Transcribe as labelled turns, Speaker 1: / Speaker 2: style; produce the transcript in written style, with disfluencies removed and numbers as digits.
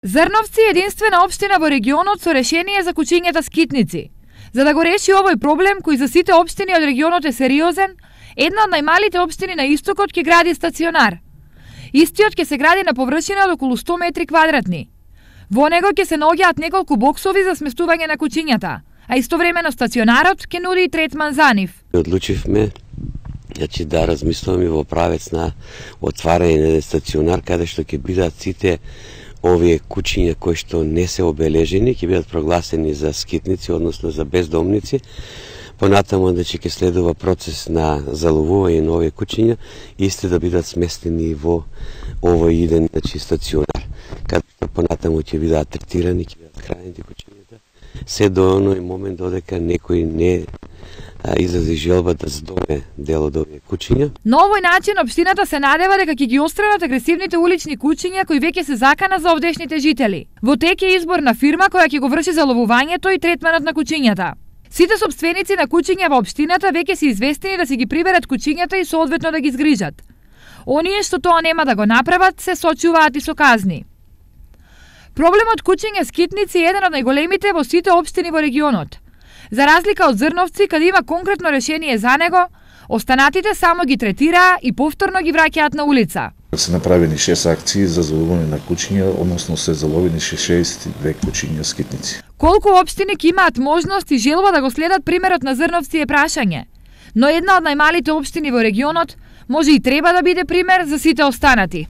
Speaker 1: Зрновци е единствена општина во регионот со решение за кучињата скитници. За да го реши овој проблем, кој за сите општини од регионот е сериозен, една од најмалите општини на истокот ќе гради стационар. Истиот ќе се гради на површина од околу 100 метри квадратни. Во него ќе се наоѓаат неколку боксови за сместување на кучињата, а истовремено стационарот ќе нуди и третман за нив.
Speaker 2: Одлучивме да размислуваме во правец на отварање на стационар каде што ќе бидат сите овие кучиња кои што не се обележени, ќе бидат прогласени за скитници, односно за бездомници. Понатаму ќе следува процес на заловување на овие кучиња, исти да бидат сместени во овој еден стационар, каде понатаму ќе бидат третирани, ќе бидат хранети кучињата, се до оној момент додека некој не изрази желба да здоме дел од овие кучиња.
Speaker 1: На овој начин општината се надева дека ќе ги отстранат агресивните улични кучиња кои веќе се закана за овдешните жители. Во тек е избор на фирма која ќе го врши заловувањето и третманот на кучињата. Сите сопственици на кучиња во општината веќе се известени да си ги приберат кучињата и соодветно да ги згрижат. Оние што тоа нема да го направат се сочуваат и со казни. Проблемот кучиња скитници е еден од најголемите во сите општини во регионот. За разлика од Зрновци, каде има конкретно решение за него, останатите само ги третираа и повторно ги враќаат на улица.
Speaker 3: Се направени 6 акции за заловување на кучиња, односно се заловени 62 кучиња скитници.
Speaker 1: Колку општини ќе имаат можност и желба да го следат примерот на Зрновци е прашање, но една од најмалите општини во регионот може и треба да биде пример за сите останати.